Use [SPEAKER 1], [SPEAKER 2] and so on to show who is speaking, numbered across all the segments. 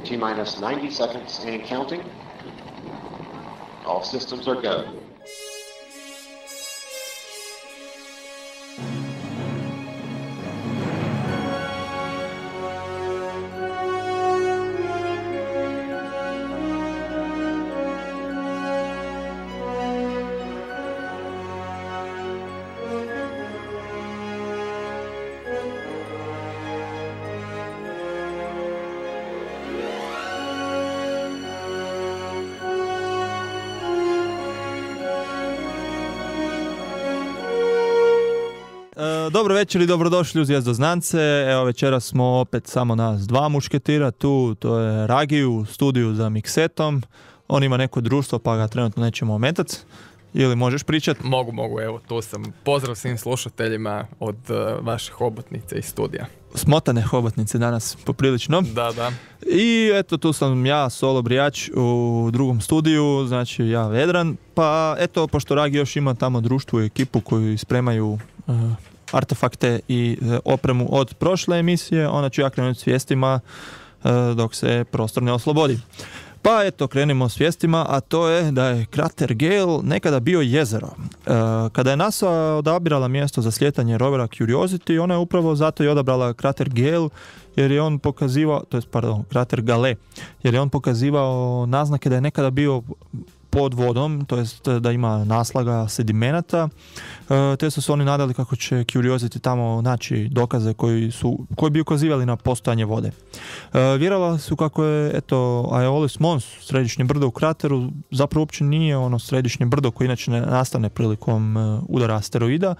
[SPEAKER 1] T-minus 90 seconds and counting. All systems are go.
[SPEAKER 2] Dobro večer i dobrodošli u Zvijezdoznance. Evo večeras smo opet samo nas dva mušketira tu, to je Ragi u studiju za miksetom. On ima neko društvo pa ga trenutno nećemo ometati. Ili možeš pričati?
[SPEAKER 3] Mogu, evo tu sam. Pozdrav svim slušateljima od vaše hobotnice iz studija.
[SPEAKER 2] Smotane hobotnice danas poprilično.
[SPEAKER 3] Da.
[SPEAKER 2] I eto tu sam ja, Solo Brijač u drugom studiju, znači ja Vedran. Pa eto, pošto Ragi još ima tamo društvo i ekipu koju spremaju artefakte i opremu od prošle emisije, onda ću ja krenuti s vijestima dok se prostor ne oslobodi. Pa eto, krenimo s vijestima, a to je da je krater Gale nekada bio jezero. Kada je NASA odabirala mjesto za slijetanje rovera Curiosity, ona je upravo zato i odabrala krater Gale, jer je on pokazivao, krater Gale, jer je on pokazivao naznake da je nekada bio pod vodom, to jest da ima naslaga sedimenata, te su se oni nadali kako će Curiosity tamo naći dokaze koji bi ukazivali na postojanje vode. Vjerovali su kako je Aeolis Mons, središnje brdo u krateru, zapravo uopće nije ono središnje brdo koje inače ne nastane prilikom udara asteroida,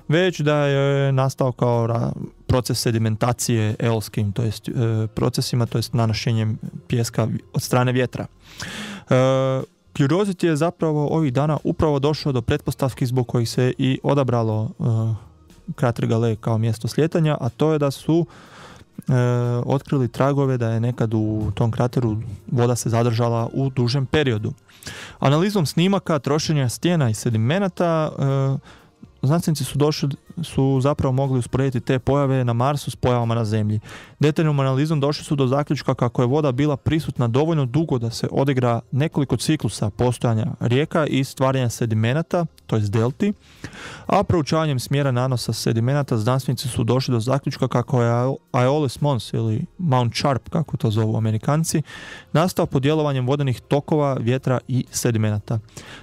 [SPEAKER 2] već da je nastao kao proces sedimentacije eolskim, to jest procesima, to jest nanošenjem pijeska od strane vjetra. Curiosity je zapravo ovih dana upravo došao do pretpostavki zbog kojih se i odabralo krater Gale kao mjesto slijetanja, a to je da su otkrili tragove da je nekad u tom krateru voda se zadržala u dužem periodu. Analizom snimaka, trošenja stijena i sedimenata, znanstvenici su zapravo mogli usporediti te pojave na Marsu s pojavama na Zemlji. Detaljnom analizom došli su do zaključka kako je voda bila prisutna dovoljno dugo da se odigra nekoliko ciklusa postojanja rijeka i stvaranja sedimenata, to jest delti, a proučavanjem smjera nanosa sedimenata znanstvenici su došli do zaključka kako je Aeolis Mons ili Mount Sharp, kako to zovu Amerikanci, nastao pod djelovanjem vodenih tokova, vjetra i sedimenata.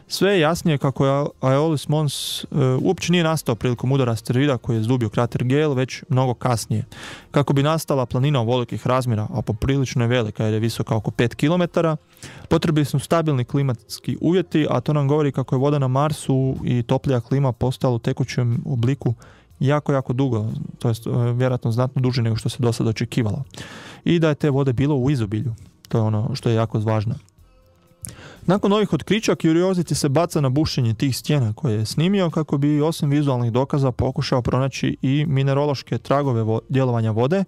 [SPEAKER 2] Sve je jasnije kako je Aeolis Mons uopće nije nastao prilikom udara asteroida koji je zdubio krater Gale, već mnogo kasnije. Kako bi nastala planina velikih razmjera, a poprilično je velika jer je visoka oko 5 km, potrebni su stabilni klimatski uvjeti, a to nam govori kako je voda na Marsu i toplija klima postala u tekućem obliku jako dugo, to jest vjerojatno znatno duže nego što se do sada očekivalo. I da je te vode bilo u izobilju, to je ono što je jako važno. Nakon ovih otkrića, Curiosity se baca na bušenje tih stijena koje je snimio kako bi osim vizualnih dokaza pokušao pronaći i minerološke tragove djelovanja vode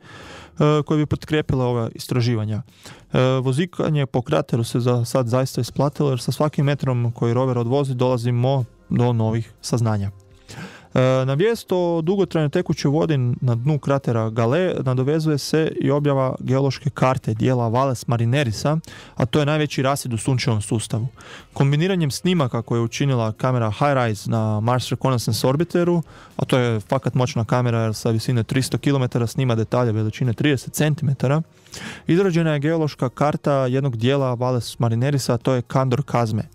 [SPEAKER 2] koje bi potkrijepile ova istraživanja. Vozikanje po krateru se za sad zaista isplatilo jer sa svakim metrom koji rover odvozi dolazimo do novih saznanja. Na vijest o dugotrajnoj tekućoj vodi na dnu kratera Gale nadovezuje se i objava geološke karte dijela Valles Marinerisa, a to je najveći rasjed u sunčevom sustavu. Kombiniranjem snimaka koje je učinila kamera HiRISE na Mars Reconnaissance Orbiteru, a to je fakat moćna kamera jer sa visine 300 km snima detalje veličine 30 cm, izrađena je geološka karta jednog dijela Valles Marinerisa, a to je Kandor Kazme.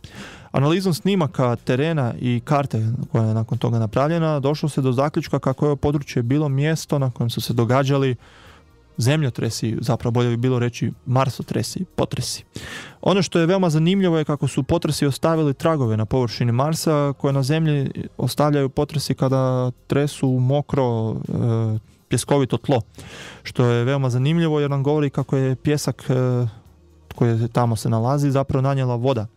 [SPEAKER 2] Analizom snimaka terena i karte koja je nakon toga napravljena, došlo se do zaključka kako je ovo područje bilo mjesto na kojem su se događali zemljotresi, zapravo bolje bi bilo reći marsotresi, potresi. Ono što je veoma zanimljivo je kako su potresi ostavili tragove na površini Marsa koje na Zemlji ostavljaju potresi kada tresu mokro pjeskovito tlo. Što je veoma zanimljivo jer nam govori kako je pjesak koji tamo se nalazi zapravo nanijela voda.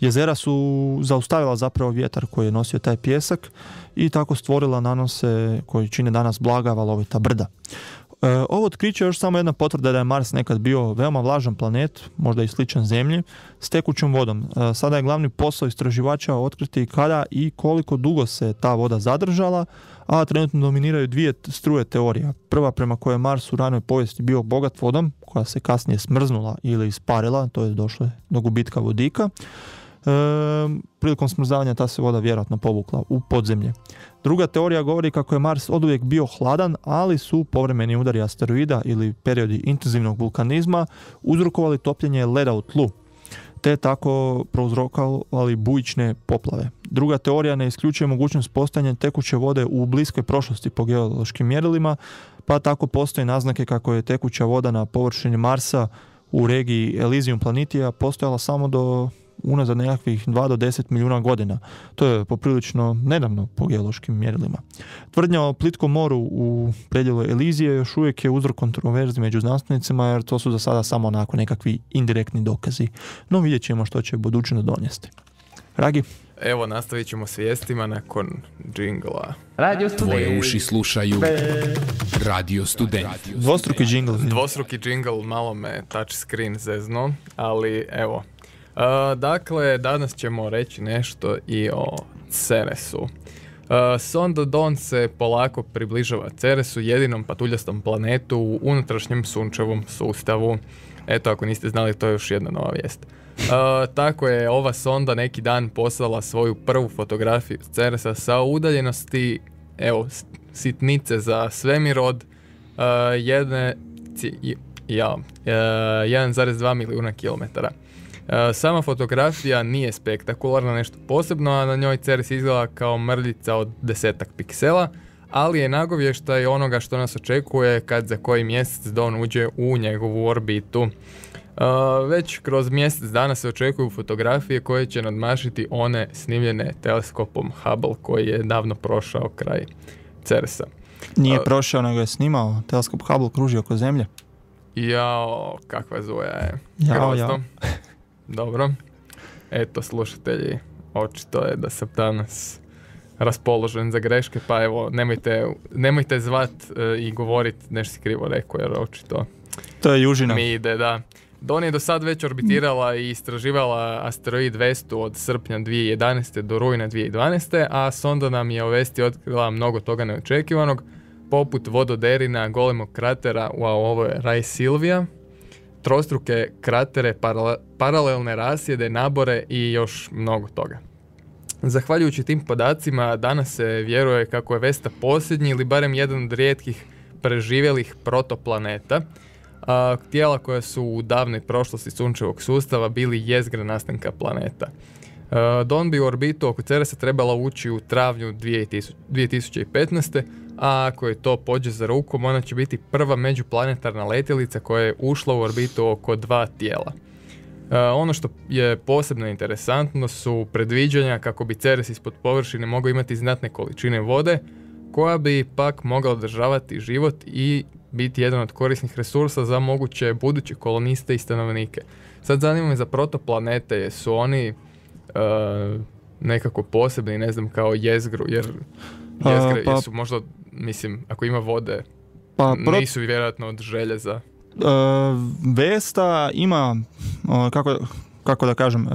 [SPEAKER 2] Jezera su zaustavila zapravo vjetar koji je nosio taj pjesak i tako stvorila nanose koji čine danas blaga valovita brda. Ovo otkriće je još samo jedna potvrda da je Mars nekad bio veoma vlažan planet, možda i sličan Zemlji, s tekućom vodom. Sada je glavni posao istraživača otkriti kada i koliko dugo se ta voda zadržala, a trenutno dominiraju dvije struje teorija. Prva prema kojoj je Mars u ranoj povijesti bio bogat vodom, koja se kasnije smrznula ili isparila, to je došlo do gubitka vodika. Prilikom smrzavanja ta se voda vjerojatno povukla u podzemlje. Druga teorija govori kako je Mars oduvijek bio hladan, ali su povremeni udari asteroida ili periodi intenzivnog vulkanizma uzrokovali topljenje leda u tlu, te tako prouzrokovali bujične poplave. Druga teorija ne isključuje mogućnost postojanja tekuće vode u bliskoj prošlosti po geološkim mjerilima, pa tako postoje naznake kako je tekuća voda na površini Marsa u regiji Elysium Planitia postojala samo do unazad nekakvih 2 do 10 milijuna godina. To je poprilično nedavno po geološkim mjerilima. Tvrdnja o plitkom moru u predjelu Elizije još uvijek je uzrok kontroverzi među znanstvenicima, jer to su za sada samo onako nekakvi indirektni dokazi. No vidjet ćemo što će budućnost donijeti. Ragi?
[SPEAKER 3] Evo, nastavit ćemo s vijestima nakon džingla.
[SPEAKER 4] Tvoje uši slušaju Radio Student.
[SPEAKER 2] Dvostruki džingl.
[SPEAKER 3] Dvostruki džingl, malo me touch screen zezno, ali evo. Dakle, danas ćemo reći nešto i o Ceresu. Sonda Dawn se polako približava Ceresu, jedinom patuljastom planetu u unutrašnjem sunčevom sustavu. Eto, ako niste znali, to je još jedna nova vijest. Tako je ova sonda neki dan poslala svoju prvu fotografiju Ceresa sa udaljenosti, evo, sitnice za svemir od 1,2 milijuna kilometara. Sama fotografija nije spektakularna, nešto posebno, a na njoj Ceres izgleda kao mrljica od 10 piksela, ali je nagovještaj onoga što nas očekuje kad za koji mjesec Dawn uđe u njegovu orbitu. Već kroz mjesec dana se očekuju fotografije koje će nadmašiti one snimljene teleskopom Hubble koji je davno prošao kraj Ceresa.
[SPEAKER 2] Nije prošao, nego je snimao. Teleskop Hubble kruži oko Zemlje.
[SPEAKER 3] Jao, kakva zuja je.
[SPEAKER 2] Jao.
[SPEAKER 3] Dobro. Eto, slušatelji, očito je da sam danas raspoložen za greške, pa evo, nemojte zvat i govorit nešto si krivo rekao, jer očito
[SPEAKER 2] to je južina.
[SPEAKER 3] Mi ide, da. Dawn je do sad već orbitirala i istraživala asteroid Vestu od srpnja 2011. do rujna 2012. A sonda nam je o Vesti otkrila mnogo toga neočekivanog, poput vododerina, golemog kratera, ovo je Raj Silvija, trostruke kratere, paralelne rasjede, nabore i još mnogo toga. Zahvaljujući tim podacima, danas se vjeruje kako je Vesta posljednji ili barem jedan od rijetkih preživjelih protoplaneta, tijela koja su u davnoj prošlosti sunčevog sustava bili jezgra nastanka planeta. Dawn bi u orbitu oko Ceresa trebala ući u travnju 2015. A ako je to pođe za rukom, ona će biti prva međuplanetarna letjelica koja je ušla u orbitu oko 2 tijela. Ono što je posebno interesantno su predviđanja kako bi Ceres ispod površine mogao imati znatne količine vode, koja bi pak mogla održavati život i biti jedan od korisnih resursa za moguće buduće koloniste i stanovnike. Sad zanima me za protoplanete, jesu oni nekako posebni, ne znam, kao jezgru, jer jezgre jesu možda, mislim, ako ima vode, nisu vjerojatno od željeza.
[SPEAKER 2] Vesta ima, kako da kažem,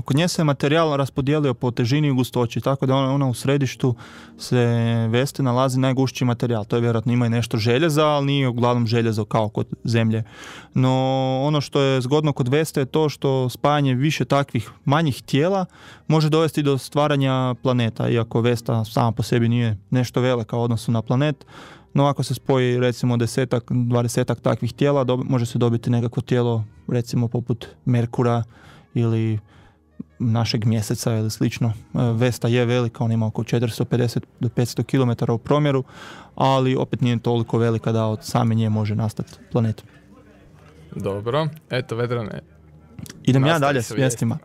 [SPEAKER 2] kod nje se materijal raspodijelio po težini i gustoći, tako da ona u središtu se Veste nalazi najgušći materijal. To je vjerojatno, ima i nešto željeza, ali nije uglavnom željezo kao kod Zemlje. No ono što je zgodno kod Veste je to što spajanje više takvih manjih tijela može dovesti do stvaranja planeta, iako Vesta sama po sebi nije nešto velika u odnosu na planet. No ako se spoji recimo 10-20 takvih tijela, može se dobiti nekakvo tijelo recimo poput Merkura ili našeg mjeseca ili slično. Vesta je velika, ona ima oko 450 do 500 km u promjeru, ali opet nije toliko velika da od same nje može nastati planet.
[SPEAKER 3] Dobro, eto Vedrane.
[SPEAKER 2] Idem ja dalje s vijestima.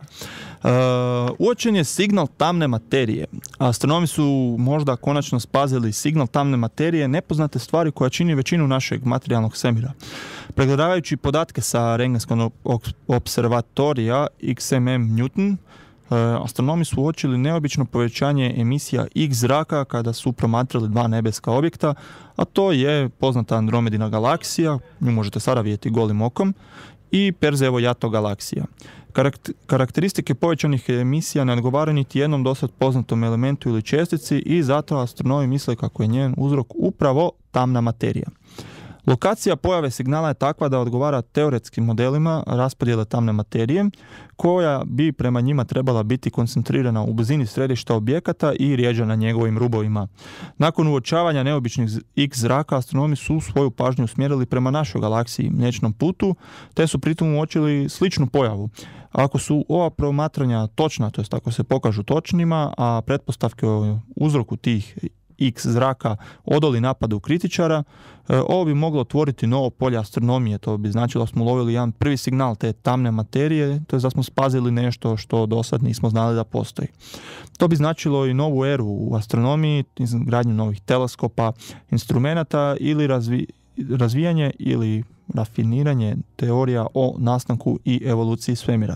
[SPEAKER 2] Uočen je signal tamne materije. Astronomi su možda konačno spazili signal tamne materije, nepoznate stvari koja čini većinu našeg materijalnog svemira. Pregledavajući podatke sa Rengenskog observatorija XMM Newton, astronomi su uočili neobično povećanje emisija X zraka kada su promatrali dva nebeska objekta, a to je poznata Andromedina galaksija, nju možete sada vidjeti golim okom, i Perseevo jato galaksija. Karakteristike povećanih emisija ne odgovaraju niti jednom dosad poznatom elementu ili čestici i zato astronomi misle kako je njen uzrok upravo tamna materija. Lokacija pojave signala je takva da odgovara teoretskim modelima raspodjele tamne materije, koja bi prema njima trebala biti koncentrirana u blizini središta objekata i rjeđa na njegovim rubovima. Nakon uočavanja neobičnih X zraka, astronomi su svoju pažnju usmjerili prema našoj galaksiji, Mliječnom putu, te su pritom uočili sličnu pojavu. Ako su ova promatranja točna, to jest ako se pokažu točnima, a pretpostavke o uzroku tih X zraka odoli napadu kritičara, ovo bi moglo otvoriti novo polje astronomije. To bi značilo da smo ulovili jedan prvi signal te tamne materije, to je da smo spazili nešto što do sad nismo znali da postoji. To bi značilo i novu eru u astronomiji, izgradnju novih teleskopa, instrumenata ili razvijanje ili rafiniranje teorija o nastanku i evoluciji svemira.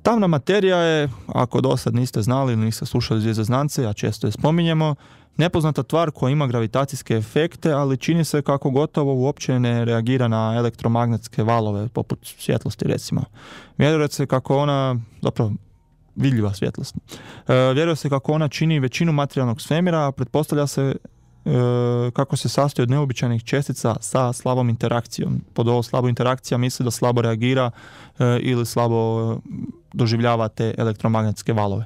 [SPEAKER 2] Tamna materija je, ako do sad niste znali ili niste slušali zvjezdoznance, a često je spominjemo, nepoznata tvar koja ima gravitacijske efekte, ali čini se kako gotovo uopće ne reagira na elektromagnetske valove, poput svjetlosti recimo. Vjeruje se kako ona, zapravo vidljiva svjetlost, vjeruje se kako ona čini većinu materijalnog svemira, a pretpostavlja se kako se sastoji od neobičajnih čestica sa slabom interakcijom. Pod ovo slabo interakcija misli da slabo reagira ili slabo doživljava te elektromagnetske valove.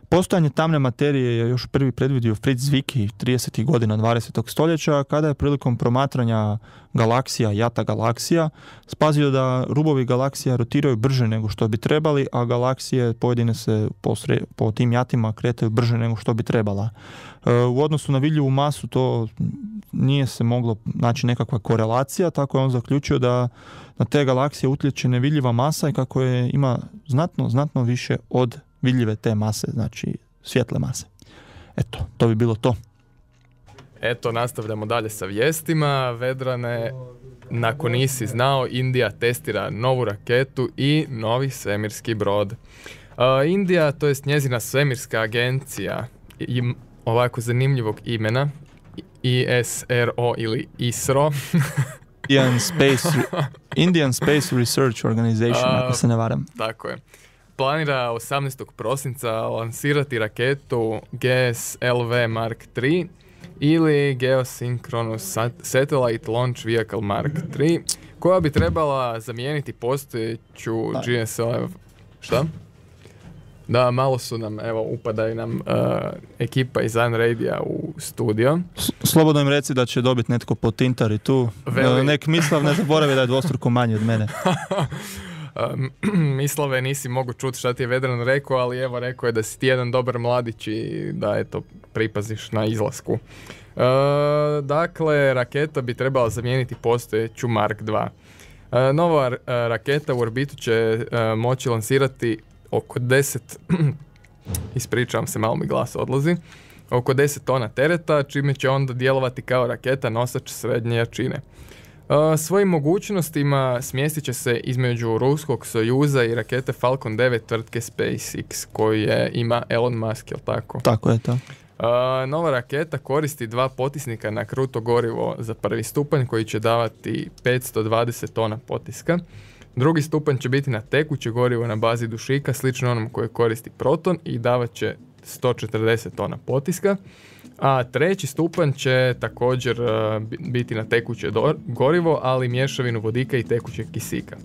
[SPEAKER 2] Postojanje tamne materije je još prvi predvidio Fritz Zwicky 30. godina 20. stoljeća, kada je prilikom promatranja galaksija, jata galaksija, spazio da rubovi galaksija rotiraju brže nego što bi trebali, a galaksije pojedine se po tim jatima kretaju brže nego što bi trebala. U odnosu na vidljivu masu to nije se moglo naći nekakva korelacija, tako je on zaključio da na te galaksije utječe nevidljiva masa i kako je ima znatno više od vidljive te mase, znači svjetle mase. Eto, to bi bilo to.
[SPEAKER 3] Eto, nastavljamo dalje sa vijestima. Vedrane, nakon nisi znao, Indija testira novu raketu i novi svemirski brod. Indija, to jest njezina svemirska agencija, ovako zanimljivog imena, ISRO ili ISRO,
[SPEAKER 2] Indian Space Research Organization, ako se ne varam.
[SPEAKER 3] Tako je. Planira 18. prosinca lansirati raketu GSLV Mark III ili Geosynchronous Satellite Launch Vehicle Mark III, koja bi trebala zamijeniti postojeću GSLV... Šta? Da, malo su nam, evo, upadaju nam ekipa iz Unradia u studio.
[SPEAKER 2] Slobodno im reci da će dobiti netko po Tintari tu. Nek Mislav ne zaboravi da je dvostruko manji od mene.
[SPEAKER 3] Mislave, nisi mogu čuti šta ti je Vedran rekao, ali evo rekao je da si ti jedan dobar mladić i da eto pripaziš na izlasku. Dakle, raketa bi trebala zamijeniti postojeću Mark II. Nova raketa u orbitu će moći lansirati oko 10 ispričavam se, malo mi glas odlazi, oko 10 tona tereta, čime će onda djelovati kao raketa nosač srednje jačine. Svojim mogućnostima smjestit će se između ruskog Sojuza i rakete Falcon 9 tvrtke SpaceX, koju ima Elon Musk, jel tako?
[SPEAKER 2] Tako je to.
[SPEAKER 3] Nova raketa koristi 2 potisnika na kruto gorivo za prvi stupanj koji će davati 520 tona potiska. Drugi stupanj će biti na tekuće gorivo na bazi dušika, slično onom koje koristi Proton i davat će 140 tona potiska. A treći stupanj će također biti na tekuće gorivo, ali mješavinu vodika i tekućeg kisika.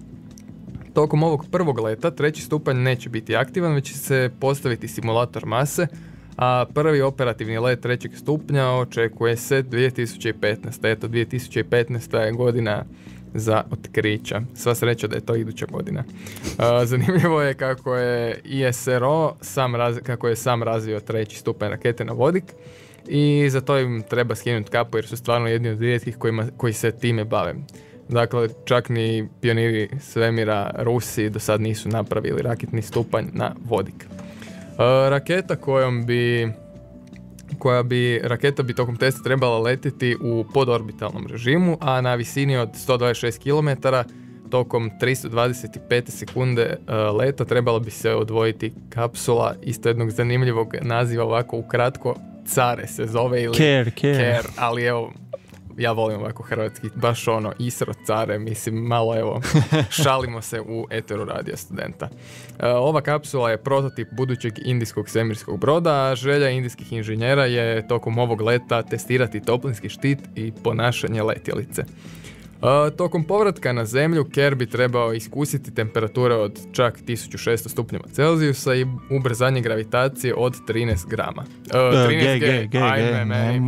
[SPEAKER 3] Tokom ovog prvog leta treći stupanj neće biti aktivan, već će se postaviti simulator mase, a prvi operativni let trećeg stupnja očekuje se 2015. Eto, 2015. je godina za otkrića. Sva sreća da je to iduća godina. Zanimljivo je kako je ISRO sam razvio treći stupanj rakete na vodik i za to im treba skinuti kapu jer su stvarno jedni od rijetkih koji se time bave. Dakle, čak ni pioniri svemira Rusi do sad nisu napravili raketni stupanj na vodik. Raketa raketa bi tokom testa trebala letjeti u podorbitalnom režimu, a na visini od 126 km tokom 325 sekunde leta trebala bi se odvojiti kapsula isto jednog zanimljivog naziva, ovako ukratko Care se zove ili
[SPEAKER 2] Care,
[SPEAKER 3] ali evo, ja volim ovako hrvatski, baš ono, Isro Care, mislim, malo evo, šalimo se u eteru Radio Studenta. Ova kapsula je prototip budućeg indijskog svemirskog broda, a želja indijskih inženjera je tokom ovog leta testirati toplinski štit i ponašanje letjelice. Tokom povratka na zemlju, Care bi trebao iskusiti temperature od čak 1600 stupnjeva Celzijusa i ubrzanje gravitacije od 13 grama. 13 G, ajme,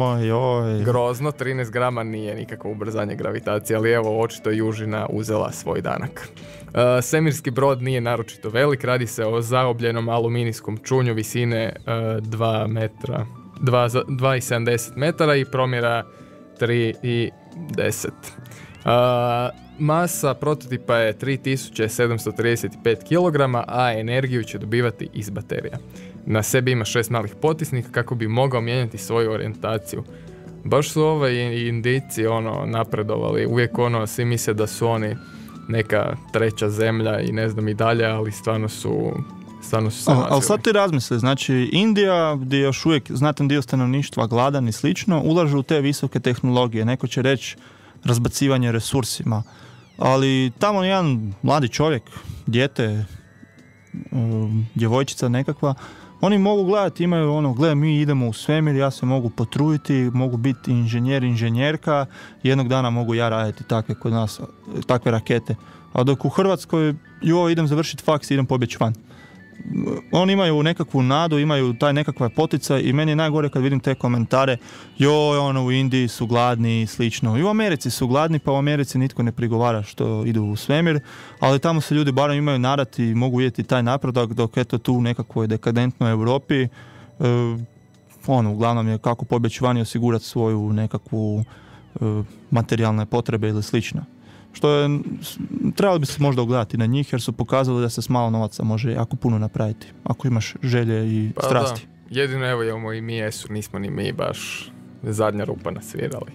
[SPEAKER 3] grozno, 13 grama nije nikakvo ubrzanje gravitacije, ali evo, očito je Južina uzela svoj danak. Svemirski brod nije naročito velik, radi se o zaobljenom aluminijskom čunju visine 2,70 metara i promjera 3,10. Masa prototipa je 3735 kg, a energiju će dobivati iz baterija. Na sebi ima 6 malih potisnika kako bi mogao mijenjati svoju orijentaciju. Baš su Indijci napredovali, uvijek svi misle da su oni neka treća zemlja i ne znam i dalje, ali stvarno su se razvili.
[SPEAKER 2] Ali sad ti razmisli, znači Indija, gdje je još uvijek znatan dio stanovništva gladan i slično, ulažu u te visoke tehnologije. Neko će reći razbacivanje resursima, ali tamo jedan mladi čovjek, dijete, djevojčica nekakva, oni mogu gledati, imaju gle, mi idemo u svemir, ja se mogu potruditi, mogu biti inženjer, inženjerka, jednog dana mogu ja raditi takve kod nas, takve rakete. A dok u Hrvatskoj, idem završiti faks, idem pobjeći van. Oni imaju nekakvu nadu, imaju taj nekakva poticaj i meni je najgore kad vidim te komentare, u Indiji su gladni i slično. I u Americi su gladni, pa u Americi nitko ne prigovara što idu u svemir, ali tamo se ljudi barem imaju nadat i mogu vidjeti taj napredak, dok eto tu u nekakvoj dekadentnoj Europi uglavnom je kako pobjeći van i osigurati svoju nekakvu materijalne potrebe ili slično. Što je, trebalo bi se možda ugledati na njih jer su pokazali da se s malo novaca može jako puno napraviti ako imaš želje i strasti.
[SPEAKER 3] Da. Jedino evo imamo i mi nismo ni mi baš zadnja rupa nasvirali.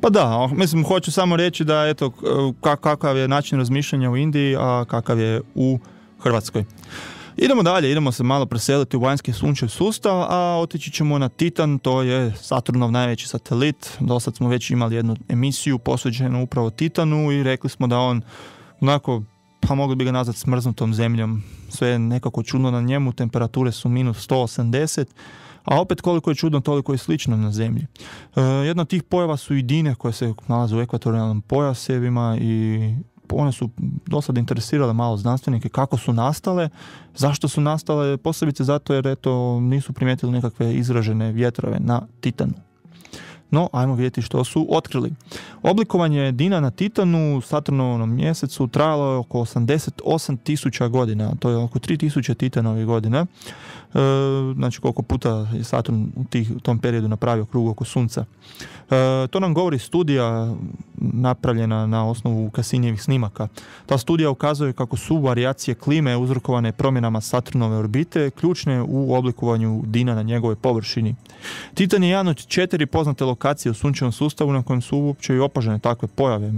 [SPEAKER 2] Pa da, mislim hoću samo reći da eto kakav je način razmišljanja u Indiji, a kakav je u Hrvatskoj. Idemo dalje, idemo se malo preseliti u vanjski sunčev sustav, a otići ćemo na Titan, to je Saturnov najveći satelit. Dosad smo već imali jednu emisiju posvećenu upravo Titanu i rekli smo da on onako, pa mogli bi ga nazvati smrznutom zemljom. Sve je nekako čudno na njemu, temperature su minus 180, a opet koliko je čudno, toliko je slično na zemlji. Jedna od tih pojava su i dine koje se nalaze u ekvatorijalnim pojasevima i one su dosad interesirale malo znanstvenike kako su nastale, zašto su nastale, posebice zato jer nisu primijetili nekakve izražene vjetrove na Titanu. No, ajmo vidjeti što su otkrili. Oblikovanje dina na Titanu, Saturnovom mjesecu, trajalo je oko 88.000 godina, to je oko 3.000 Titanovih godina. Znači koliko puta je Saturn u tom periodu napravio krug oko Sunca. To nam govori studija napravljena na osnovu Cassinievih snimaka. Ta studija ukazuje kako su varijacije klime uzrokovane promjenama Saturnove orbite ključne u oblikovanju dina na njegovoj površini. Titan je jedan od 4 poznate lokacije u sunčevom sustavu na kojem su uopće i opažene takve pojave.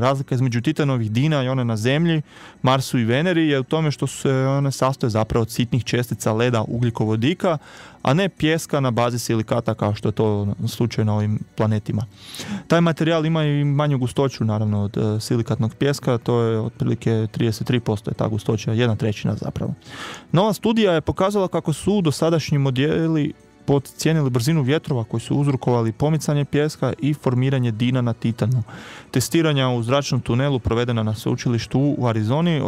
[SPEAKER 2] Razlika između Titanovih dina i one na Zemlji, Marsu i Veneri je u tome što se one sastoje zapravo od sitnih čestica leda ugljikovodika, a ne pijeska na bazi silikata kao što je to slučaj na ovim planetima. Taj materijal ima i manju gustoću naravno od silikatnog pijeska, to je otprilike 33% je ta gustoća, 1/3 zapravo. Nova studija je pokazala kako su dosadašnji modeli podcijenili brzinu vjetrova koji su uzrokovali pomicanje pijeska i formiranje dina na Titanu. Testiranja u zračnom tunelu provedena na sveučilištu u Arizoni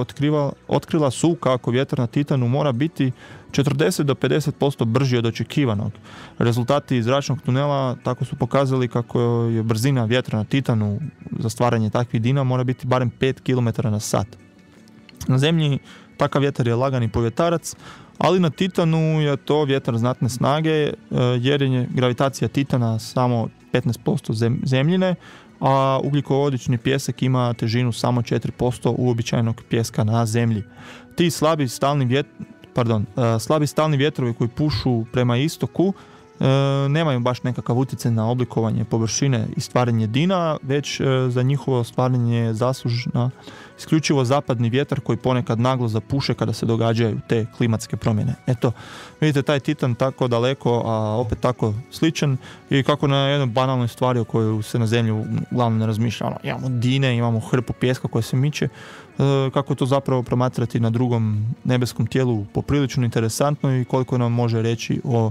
[SPEAKER 2] otkrila su kako vjetar na Titanu mora biti 40 do 50% brži od očekivanog. Rezultati zračnog tunela tako su pokazali kako je brzina vjetra na Titanu za stvaranje takvih dina mora biti barem 5 km na sat. Na Zemlji takav vjetar je lagani povjetarac, ali na Titanu je to vjetar znatne snage jer je gravitacija Titana samo 15% zemljine, a ugljikovodični pijesak ima težinu samo 4% uobičajenog pijeska na Zemlji. Ti slabi stalni vjetrovi koji pušu prema istoku nemaju baš nekakav utjecaj na oblikovanje površine i stvaranje dina, već za njihovo stvaranje je zaslužna isključivo zapadni vjetar koji ponekad naglo zapuše kada se događaju te klimatske promjene. Eto, vidite taj Titan tako daleko, a opet tako sličan i kako na jednoj banalnoj stvari o kojoj se na zemlju uglavnom ne razmišlja. Imamo dine, imamo hrpu pijeska koja se miče, kako to zapravo promatrati na drugom nebeskom tijelu poprilično interesantno i koliko nam može reći o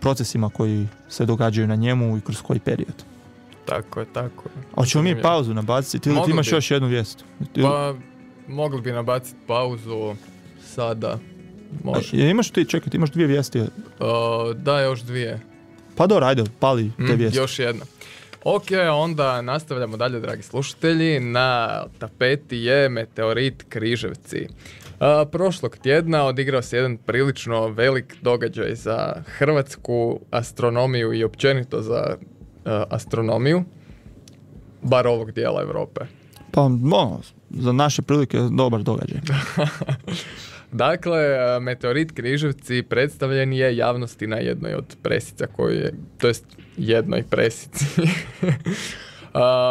[SPEAKER 2] procesima koji se događaju na njemu i kroz koji period.
[SPEAKER 3] Tako je.
[SPEAKER 2] A ćemo mi pauzu nabaciti ili ti imaš još jednu vijest?
[SPEAKER 3] Pa, mogli bi nabaciti pauzu sada. Može.
[SPEAKER 2] Imaš ti, čekaj, ti imaš 2 vijesti?
[SPEAKER 3] Da, još 2.
[SPEAKER 2] Pa dobro, ajde, pali te vijesti.
[SPEAKER 3] Još jedna. Ok, onda nastavljamo dalje, dragi slušatelji. Na tapeti je meteorit Križevci. Prošlog tjedna odigrao se jedan prilično velik događaj za hrvatsku astronomiju i općenito za astronomiju, bar ovog dijela Europe.
[SPEAKER 2] Pa, za naše prilike dobar događaj.
[SPEAKER 3] Dakle, meteorit Križevci predstavljen je javnosti na jednoj od presica jednoj presici.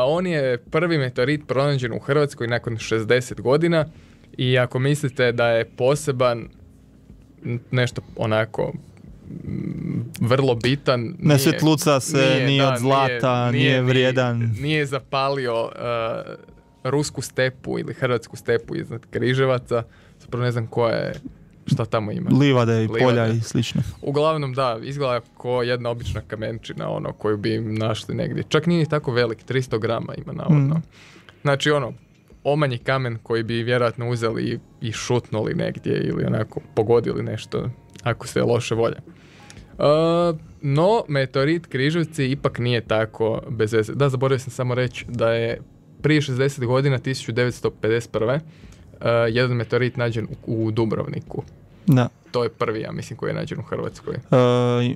[SPEAKER 3] On je prvi meteorit pronađen u Hrvatskoj nakon 60 godina i ako mislite da je poseban, nešto onako vrlo bitan,
[SPEAKER 2] ne svjetluca se, nije od zlata, nije vrijedan.
[SPEAKER 3] Nije zapalio rusku stepu ili hrvatsku stepu iznad Križevaca. Zapravo ne znam šta tamo ima.
[SPEAKER 2] Livade i polja i slično.
[SPEAKER 3] Uglavnom da, izgleda kao jedna obična kamenčina, koju bi im našli negdje. Čak nije tako velik, 300 grama ima navodno. Znači omanji kamen koji bi vjerojatno uzeli i šutnuli negdje ili onako pogodili nešto ako se loše volje. No, meteorit Križevci ipak nije tako bez veze. Da, zaboravio sam samo reći da je prije 60 godina, 1951. Jedan meteorit nađen u Dubrovniku.
[SPEAKER 2] Da.
[SPEAKER 3] To je prvi, ja mislim, koji je nađen u Hrvatskoj.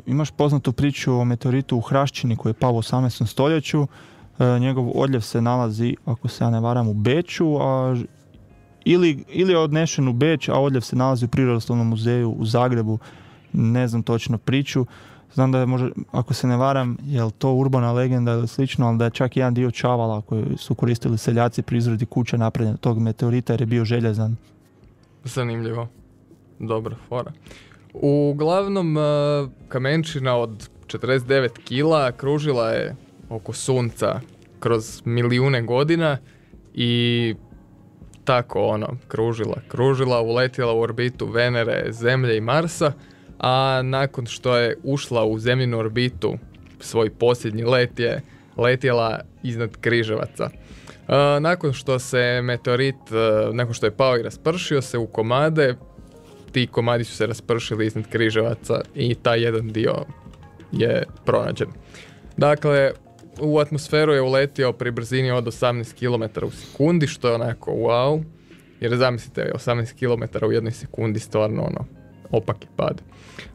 [SPEAKER 2] Imaš poznatu priču o meteoritu u Hraščini koji je pao u 18. stoljeću. Njegov odljev se nalazi, ako se ja ne varam, u Beču, ili je odnešen u Beč, a odljev se nalazi u Prirodoslovnom muzeju u Zagrebu. Ne znam točno priču. Znam da je možda, ako se ne varam, je li to urbana legenda ili slično, ali da je čak jedan dio čavala koji su koristili seljaci pri izradi kuće napravljen tog meteorita jer je bio željezan.
[SPEAKER 3] Zanimljivo. Dobra fora. Uglavnom, kamenčina od 49 kila kružila je oko Sunca kroz milijune godina i tako kružila, uletjela u orbitu Venere, Zemlje i Marsa, a nakon što je ušla u zemljinu orbitu, svoj posljednji let je letjela iznad Križevaca. Nakon što se meteorit, nakon što je pao i raspršio se u komade, ti komadi su se raspršili iznad Križevaca i taj jedan dio je pronađen. Dakle, u atmosferu je uletio pri brzini od 18 km u sekundi, što je onako wow, jer zamislite, 18 km u jednoj sekundi stvarno opaki pad.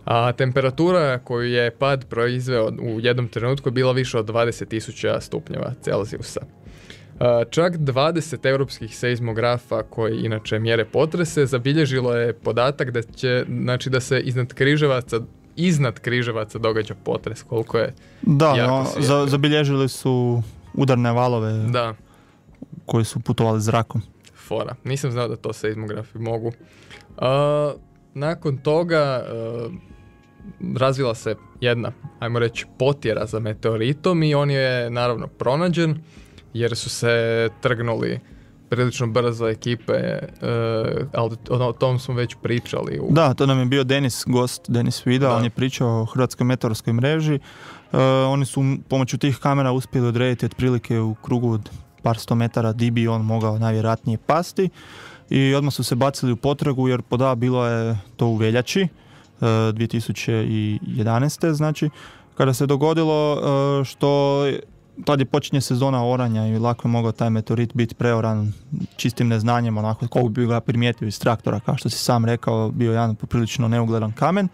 [SPEAKER 3] A temperatura koju je pad proizveo u jednom trenutku je bila više od 20.000 stupnjeva Celzijusa. Čak 20 europskih seizmografa koji inače mjere potrese zabilježilo je podatak da se iznad Križevaca događa potres, koliko je
[SPEAKER 2] zabilježili su udarne valove koji su putovali zrakom.
[SPEAKER 3] Fora. Nisam znao da to seizmografi mogu. Nakon toga razvila se jedna, ajmo reći, potjera za meteoritom i on je naravno pronađen jer su se trgnuli prilično brzo ekipe, ali o tom smo već pričali.
[SPEAKER 2] Da, to nam je bio Denis Vida, on je pričao o Hrvatskoj meteorskoj mreži. Oni su pomoću tih kamera uspjeli odrediti otprilike u krugu od par 100 metara di bi on mogao najvjerojatnije pasti i odmah su se bacili u potragu jer bilo je to u veljači 2011. znači kada se dogodilo što tad je počinje sezona oranja i lako je mogao taj meteorit biti preoran čistim neznanjem, onako kako bi ga primijetio iz traktora, kao što si sam rekao, bio jedan poprilično neugledan kamen,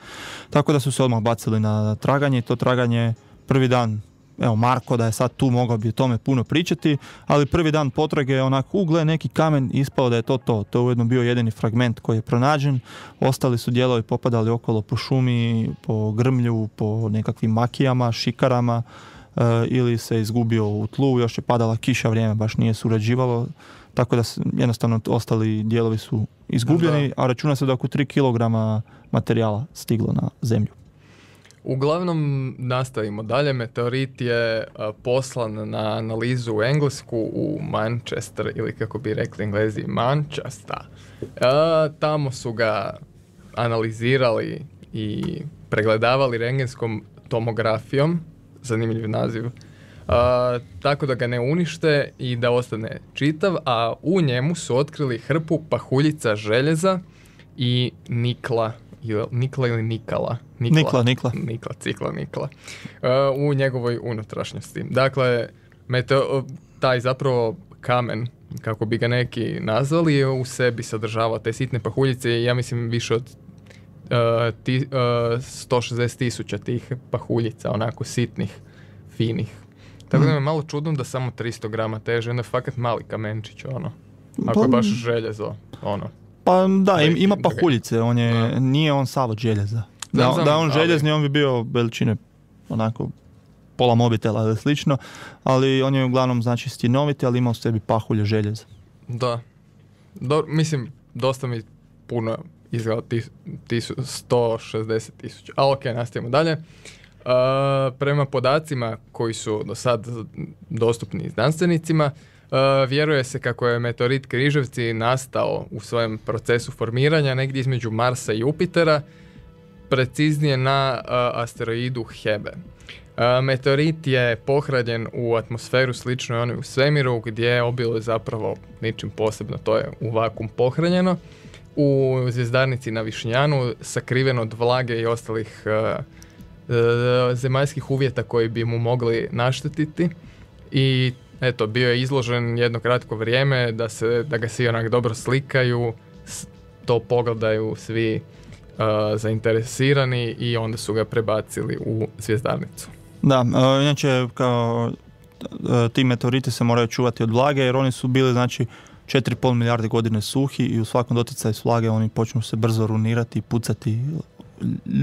[SPEAKER 2] tako da su se odmah bacili na traganje i to traganje prvi dan evo Marko da je sad tu, mogao bi o tome puno pričati, ali prvi dan potrage je onako, gle, neki kamen, ispao da je to. To je ujedno bio jedini fragment koji je pronađen, ostali su dijelovi popadali okolo po šumi, po grmlju, po nekakvim makijama, šikarama, ili se izgubio u tlu, još je padala kiša, vrijeme baš nije surađivalo, tako da jednostavno ostali dijelovi su izgubljeni, a računa se da oko 3 kg materijala stiglo na zemlju.
[SPEAKER 3] Uglavnom, nastavimo dalje. Meteorit je poslan na analizu u Englesku, u Manchester, ili kako bi rekli Englezi, Manchester. Tamo su ga analizirali i pregledavali rentgenskom tomografijom, zanimljiv naziv, tako da ga ne unište i da ostane čitav, a u njemu su otkrili hrpu pahuljica željeza i nikla ili nikala? Nikla. U njegovoj unutrašnjosti. Dakle, taj zapravo kamen, kako bi ga neki nazvali, je u sebi sadržavao te sitne pahuljice i ja mislim više od 160,000 tih pahuljica, onako sitnih, finih. Tako da me malo čudno da samo 300 grama teže, onda je fakat mali kamenčić, ono. Ako je baš željezo, ono.
[SPEAKER 2] Pa da, ima pahuljice, nije on sav od željeza. Da je on željezni, on bi bio veličine onako pola mobitela ili slično, ali on je uglavnom znači stjenoviti, ali ima u sebi pahulje željeza.
[SPEAKER 3] Da. Mislim, dosta mi puno izgleda 160,000. Ali ok, nastavimo dalje. Prema podacima koji su do sad dostupni znanstvenicima, vjeruje se kako je meteorit Križevci nastao u svojem procesu formiranja negdje između Marsa i Jupitera, preciznije na asteroidu Hebe. Meteorit je pohranjen u atmosferu slično onoj u svemiru, gdje obilo je zapravo ničim posebno, to je u vakuum pohranjeno. U zvjezdarnici na Višnjanu, sakriveno od vlage i ostalih zemaljskih uvjeta koji bi mu mogli naštetiti, i eto, bio je izložen jedno kratko vrijeme da ga svi onak dobro slikaju, to pogledaju svi zainteresirani i onda su ga prebacili u zvjezdarnicu.
[SPEAKER 2] Da, inače kao ti meteoriti se moraju čuvati od vlage jer oni su bili znači 4,5 milijarde godine suhi i u svakom doticaju s vlage oni počnu se brzo runirati, pucati,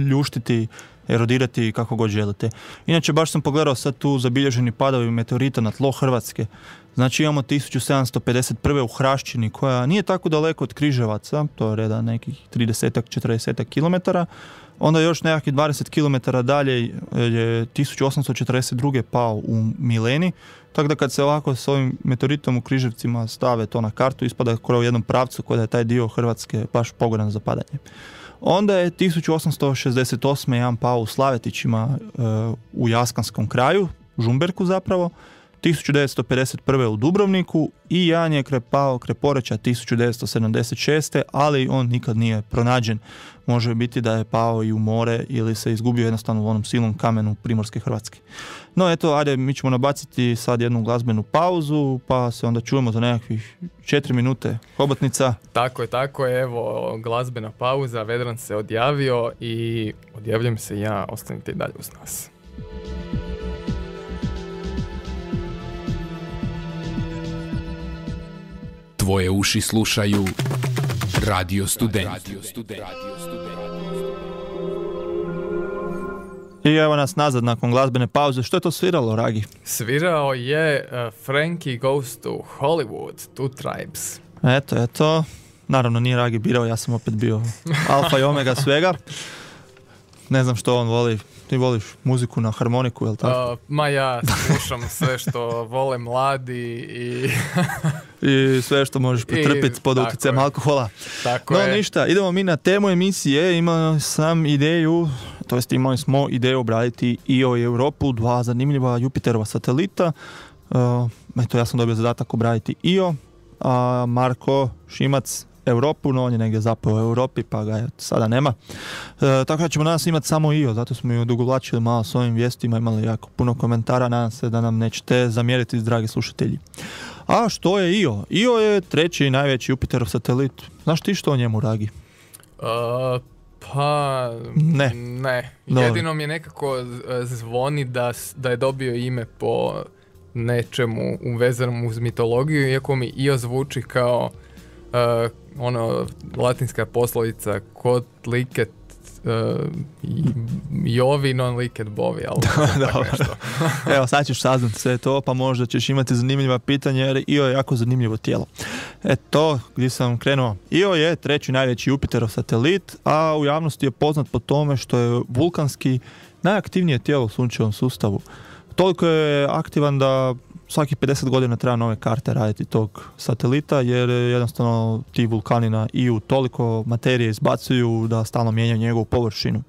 [SPEAKER 2] ljuštiti, erodirati kako god želite. Inače, baš sam pogledao sad tu zabilježeni padovi meteorita na tlo Hrvatske. Znači imamo 1751. u Hrašćini, koja nije tako daleko od Križevaca, to je reda nekih 30-40 km. Onda još nekakvih 20 km dalje je 1842. pao u Mileni. Tako da kad se ovako s ovim meteoritom u Križevcima stave to na kartu, ispada u jednom pravcu koji je taj dio Hrvatske baš pogodan za padanje. Onda je 1868. jedan pao u Slavetićima u Jaskanskom kraju, Žumberku zapravo, 1951. u Dubrovniku i jedan je pao Kreporeća 1976. ali on nikad nije pronađen. Može biti da je pao i u more ili se izgubio jednostavno u onom silnom kamenu Primorske Hrvatske. No eto, ajde, mi ćemo nabaciti sad jednu glazbenu pauzu, pa se onda čujemo za nekakvih 4 minute. Hobotnica.
[SPEAKER 3] Tako je, evo glazbena pauza, Vedran se odjavio i odjavljujem se ja, ostanite i dalje uz nas.
[SPEAKER 4] Tvoje uši slušaju Radio Student.
[SPEAKER 2] I evo nas nazad nakon glazbene pauze. Što je to sviralo, Ragi?
[SPEAKER 3] Svirao je Frankie Goes to Hollywood, Two Tribes.
[SPEAKER 2] Eto. Naravno nije Ragi birao, ja sam opet bio alfa i omega svega. Ne znam što on voli. Ti voliš muziku na harmoniku, jel tako?
[SPEAKER 3] Ma ja slušam sve što vole mladi
[SPEAKER 2] i sve što možeš pretrpiti pod utjecajem alkohola.
[SPEAKER 3] Tako je.
[SPEAKER 2] Ništa, idemo mi na temu emisije. Imali smo ideju obraditi Io i Europu, dva zanimljiva Jupiterova satelita. Eto, ja sam dobio zadatak obraditi Io, a Marko Šimac Europu, no on je negdje zapeo u Europi, pa ga sada nema. Tako da ćemo danas imati samo Io, zato smo i odugovlačili malo s ovim vijestima, imali jako puno komentara, nadam se da nam nećete zamjeriti, dragi slušatelji. A što je Io? Io je treći najveći Jupiterov satelit. Znaš ti što o njemu, Ragi?
[SPEAKER 3] Pa,
[SPEAKER 2] Ne. Dobro.
[SPEAKER 3] Jedino mi je nekako zvoni da je dobio ime po nečemu uvezanom uz mitologiju, iako mi Io zvuči kao latinska poslovica kod liket Jovi non liket bovi, ali tako nešto.
[SPEAKER 2] Evo, sad ćeš saznat sve to, pa možda ćeš imati zanimljiva pitanja, jer Io je jako zanimljivo tijelo. To gdje sam krenuo. Io je treći najveći Jupiterov satelit, a u javnosti je poznat po tome što je vulkanski najaktivnije tijelo u sunčevom sustavu. Toliko je aktivan da svaki 50 godina treba nove karte raditi tog satelita, jer jednostavno ti vulkani na Iu toliko materije izbacuju da stalno mijenjaju njegovu površinu.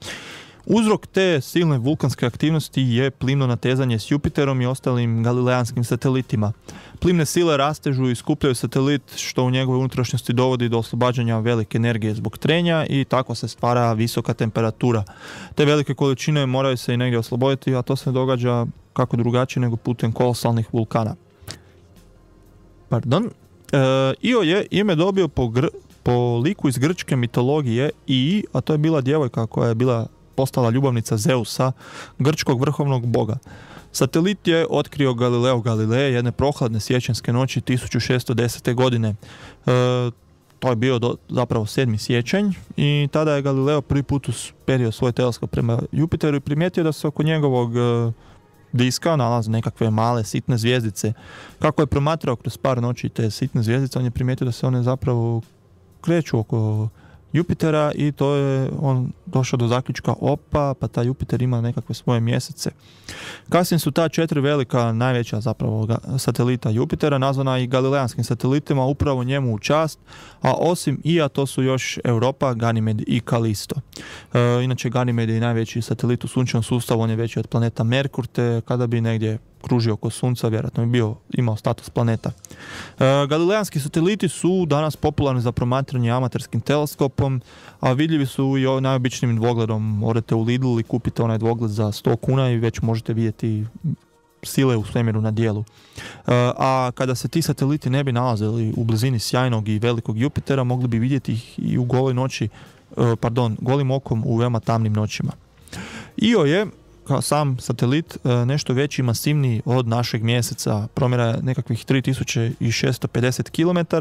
[SPEAKER 2] Uzrok te silne vulkanske aktivnosti je plimno natezanje s Jupiterom i ostalim galilejanskim satelitima. Plimne sile rastežu i skupljaju satelit, što u njegovoj unutrašnjosti dovodi do oslobađanja velike energije zbog trenja i tako se stvara visoka temperatura. Te velike količine moraju se i negdje osloboditi, a to se događa kako drugačije nego putem kolosalnih vulkana. Io je ime dobio po liku iz grčke mitologije Ii, a to je bila djevojka koja je postala ljubavnica Zeusa, grčkog vrhovnog boga. Satelit je otkrio Galileo Galilei jedne prohladne siječanjske noći 1610. godine. To je bio zapravo 7. siječanj i tada je Galileo prvi put usperio svoj teleskop prema Jupiteru i primijetio da se oko njegovog diska nalaze nekakve male sitne zvjezdice. Kako je promatrao kroz par noći te sitne zvjezdice, on je primijetio da se one zapravo kreću oko Jupitera i to je on došao do zaključka, pa taj Jupiter ima nekakve svoje mjesece. Kasnije su ta 4 velika, najveća zapravo satelita Jupitera nazvana i galilejanskim satelitima, upravo njemu u čast, a osim Ija to su još Europa, Ganymed i Kalisto. Inače Ganymed je najveći satelit u sunčevom sustavu, on je veći od planeta Merkur, te kada bi negdje kružio oko Sunca, vjerojatno bi imao status planeta. Galilejanski sateliti su danas popularni za promatranje amaterskim teleskopom, a vidljivi su i najobičnijim dvogledom. Odete u Lidl i kupite onaj dvogled za 100 kuna i već možete vidjeti sile u svemiru na dijelu. A kada se ti sateliti ne bi nalazili u blizini sjajnog i velikog Jupitera, mogli bi vidjeti ih i u golim okom u veoma tamnim noćima. Io je kao sam satelit nešto veći i masivniji od našeg mjeseca, promjera je nekakvih 3650 km,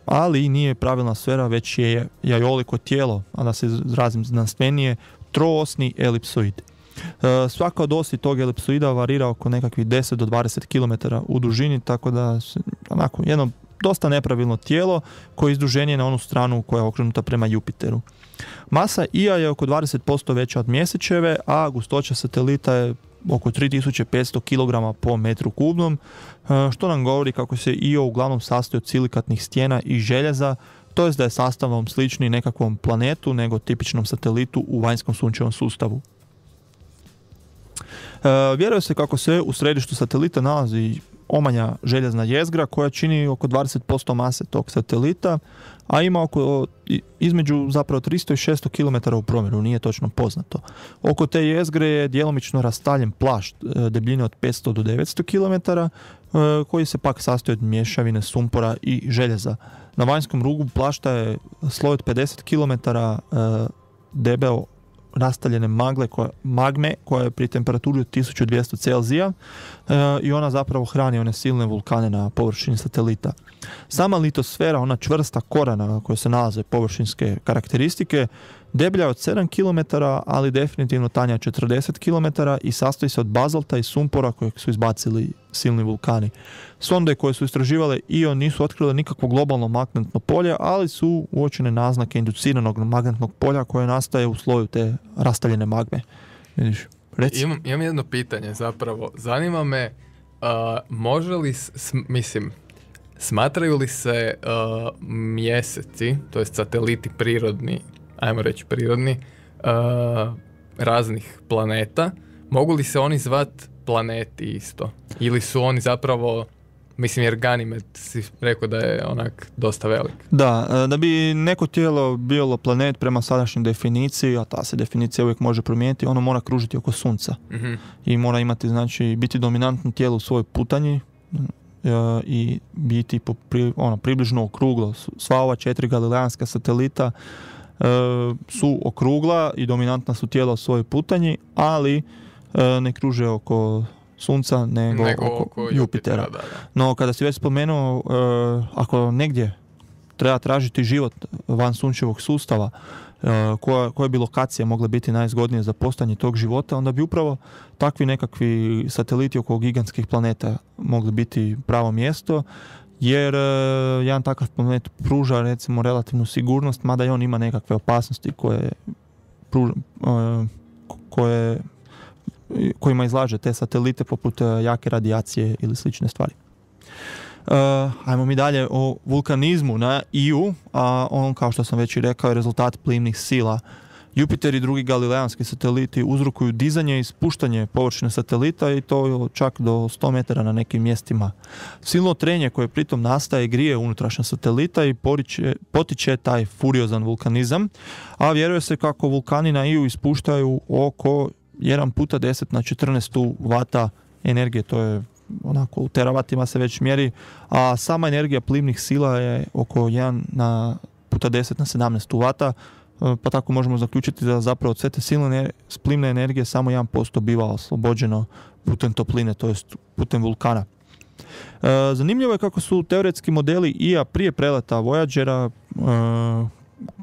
[SPEAKER 2] ali nije pravilna sfera, već je jajoliko tijelo, a da se izrazim znanstvenije, troosni elipsoid. Svaka od osi tog elipsoida varira oko nekakvih 10 do 20 km u dužini, tako da onako jedno dosta nepravilno tijelo koje je izduženije na onu stranu koja je okrenuta prema Jupiteru. Masa Ija je oko 20% veća od mjesečeve, a gustoća satelita je oko 3500 kg po metru kubnom, što nam govori kako se Io uglavnom sastoji od silikatnih stijena i željeza, to jest da je sastavom slični nekakvom planetu nego tipičnom satelitu u vanjskom sunčevom sustavu. Vjeruje se kako se u središtu satelita nalazi omanja željezna jezgra koja čini oko 20% mase tog satelita, a ima između zapravo 300 i 600 km u promjeru, nije točno poznato. Oko te jezgre je djelomično rastaljen plašt debljine od 500 do 900 km, koji se pak sastoji od mješavine sumpora i željeza. Na vanjskom rubu plašta je sloj od 50 km debeo rastaljene magme koja je pri temperaturi od 1200 Celzija i ona zapravo hrani one silne vulkane na površini satelita. Sama litosfera, ona čvrsta kora na kojoj se nalaze površinske karakteristike, deblja je od 7 km, ali definitivno tanja 40 km i sastoji se od bazalta i sumpora kojeg su izbacili silni vulkani. Sonde koje su istraživale Io nisu otkrile nikakvo globalno magnetno polje, ali su uočene naznake induciranog magnetnog polja koje nastaje u sloju te rastaljene magme. Vidiš, reci.
[SPEAKER 3] Imam jedno pitanje zapravo. Zanima me, može li, smatraju li se mjeseci, to jest sateliti prirodni, ajmo reći prirodni, raznih planeta, mogu li se oni zvat planeti isto? Ili su oni zapravo, jer Ganymed si rekao da je onak dosta velik.
[SPEAKER 2] Da bi neko tijelo bilo planet prema sadašnjoj definiciji, a ta se definicija uvijek može promijeniti, ono mora kružiti oko Sunca. Mm-hmm. I mora imati, znači, biti dominantno tijelo u svojoj putanji i biti približno okruglo. Sva ova 4 galilejanska satelita su okrugla i dominantna su tijela u svojoj putanji, ali ne kruže oko Sunca nego oko Jupitera.
[SPEAKER 3] Da.
[SPEAKER 2] No kada si već spomenuo, ako negdje treba tražiti život van sunčevog sustava, koja bi lokacija mogla biti najzgodnija za postojanje tog života, onda bi upravo takvi nekakvi sateliti oko gigantskih planeta mogli biti pravo mjesto, jer jedan takav planet pruža recimo relativnu sigurnost, mada i on ima nekakve opasnosti kojima izlaže te satelite, poput jake radijacije ili slične stvari. Ajmo mi dalje o vulkanizmu na Iju, a on, kao što sam već i rekao, je rezultat plimnih sila. Jupiter i drugi galilejanski sateliti uzrokuju dizanje i spuštanje površine satelita, i to čak do 100 metara na nekim mjestima. Silno trenje koje pritom nastaje grije unutrašnja satelita i potiče taj furiozan vulkanizam, a vjeruje se kako vulkani na Iju ispuštaju oko 1x10⁻14 vata energije, to je onako u teravatima se već mjeri, a sama energija plimnih sila je oko 1x10⁻17 vata, pa tako možemo zaključiti da zapravo od sve te silne plimne energije samo 1% biva oslobođeno putem topline, to jest putem vulkana. Zanimljivo je kako su teoretski modeli IA prije preleta Voyagera,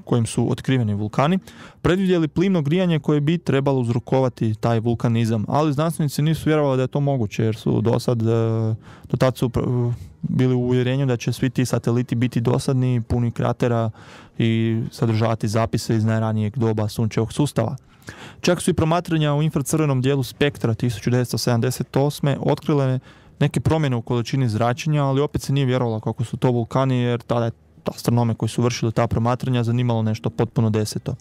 [SPEAKER 2] kojim su otkriveni vulkani, predvidjeli plimno grijanje koje bi trebalo uzrokovati taj vulkanizam, ali znanstvenici nisu vjerovali da je to moguće, jer su do tad su bili u uvjerenju da će svi ti sateliti biti dosadni, puni kratera i sadržavati zapise iz najranijeg doba sunčevog sustava. Čak su i promatranja u infracrvenom dijelu spektra 1978. otkrile neke promjene u količini zračenja, ali opet se nije vjerovalo kako su to vulkani, jer tada je astronome koji su vršili ta promatranja zanimalo nešto potpuno deseto.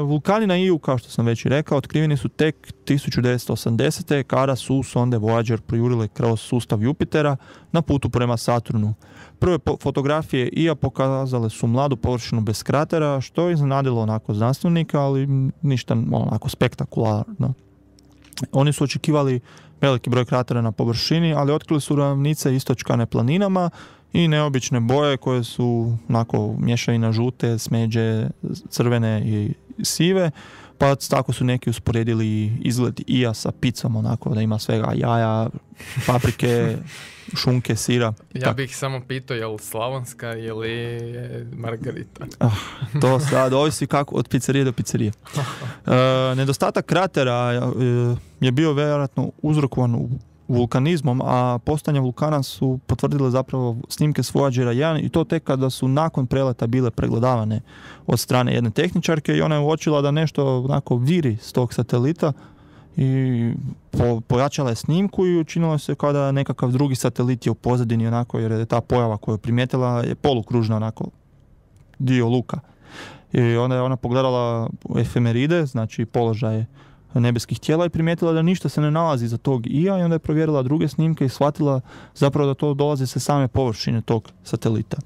[SPEAKER 2] Vulkani na Iju, kao što sam već i rekao, otkriveni su tek 1980. kada su sonde Voyager projurile kroz sustav Jupitera na putu prema Saturnu. Prve fotografije Ija pokazale su mladu površinu bez kratera, što je iznenadilo onako znanstvenika, ali ništa onako spektakularno. Oni su očekivali veliki broj kratera na površini, ali otkrili su ravnice istočkane planinama i neobične boje koje su onako mješavina žute, smeđe, crvene i sive, pa tako su neki usporedili izgled Ija sa picom, onako da ima svega jaja, paprike, šunke, sira.
[SPEAKER 3] Ja bih samo pitao je li slavonska ili margarita?
[SPEAKER 2] To sad ovisi kako od pizzerije do pizzerije. Nedostatak kratera je bio vjerojatno uzrokovan vulkanizmom, a postojanje vulkana su potvrdile zapravo snimke s Voyagera 1 i to tek kada su nakon preleta bile pregledavane od strane jedne tehničarke i ona je uočila da nešto onako viri s tog satelita i pojačala je snimku i učinilo se kao da nekakav drugi satelit je u pozadini onako, jer je ta pojava koju je primijetila je polukružna onako dio luka. I onda je ona pogledala efemeride, znači položaje nebeskih tijela i primijetila da ništa se ne nalazi za tog Ija i onda je provjerila druge snimke i shvatila zapravo da to dolazi sa same površine tog satelita.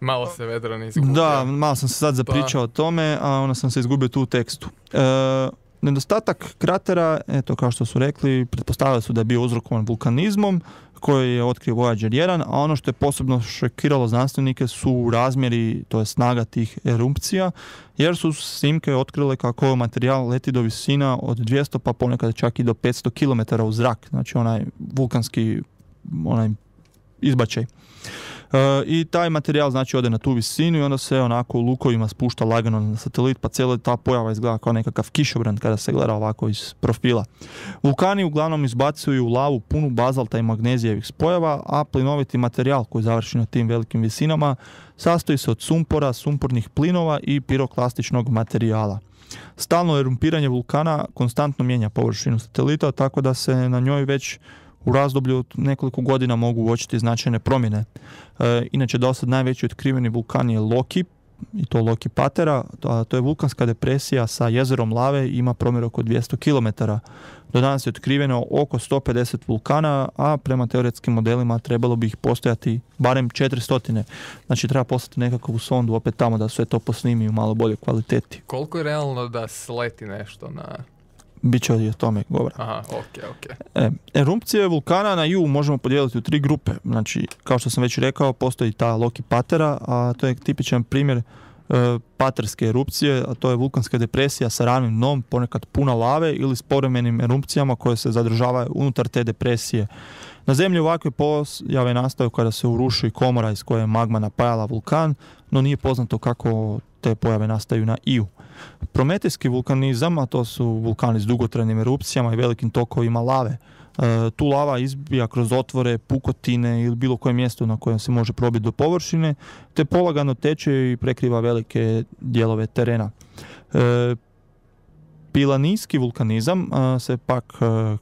[SPEAKER 3] Malo se Vedran izgubio.
[SPEAKER 2] Da, malo sam se sad zapričao o tome, a onda sam se izgubio tu u tekstu. Nedostatak kratera, eto kao što su rekli, pretpostavili su da je bio uzrokovan vulkanizmom koji je otkrio Voyager 1, a ono što je posebno šokiralo znanstvenike su razmjeri, to je snaga tih erupcija, jer su snimke otkrile kako materijal leti do visina od 200 pa ponekad čak i do 500 km u zrak, znači onaj vulkanski izbačaj. I taj materijal znači ode na tu visinu i onda se onako u lukovima spušta lagano na satelit, pa cijela ta pojava izgleda kao nekakav kišobran kada se gleda ovako iz profila. Vulkani uglavnom izbacuju lavu punu bazalta i magnezijevih spojeva, a plinoviti materijal koji završi na tim velikim visinama sastoji se od sumpora, sumpornih plinova i piroklastičnog materijala. Stalno erumpiranje vulkana konstantno mijenja površinu satelita, tako da se na njoj već u razdoblju od nekoliko godina mogu uočiti značajne promjene. Inače, dosad najveći otkriveni vulkan je Loki, i to Loki Patera. To je vulkanska depresija sa jezerom lave i ima promjer oko 200 km. Do danas je otkriveno oko 150 vulkana, a prema teoretskim modelima trebalo bi ih postojati barem 400. Znači treba poslati nekakvu sondu opet tamo da sve to posnimi u malo bolje kvaliteti.
[SPEAKER 3] Koliko je realno da sleti nešto na...
[SPEAKER 2] bit će i o tome govora.
[SPEAKER 3] Aha, ok.
[SPEAKER 2] Erupcije vulkana na Iu možemo podijeliti u 3 grupe. Znači, kao što sam već rekao, postoji ta Loki Patera, a to je tipičan primjer paterske erupcije, a to je vulkanska depresija sa ravnim dnom, ponekad puna lave ili s povremenim erupcijama koje se zadržavaju unutar te depresije. Na zemlji ovakve pojave nastaju kada se uruši komora iz koje je magma napajala vulkan, no nije poznato kako te pojave nastaju na Iu. Prometejski vulkanizam, a to su vulkani s dugotrajnim erupcijama i velikim tokovima lave. Tu lava izbija kroz otvore, pukotine ili bilo koje mjesto na kojem se može probiti do površine, te polagano teče i prekriva velike dijelove terena. Pilanijski vulkanizam se pak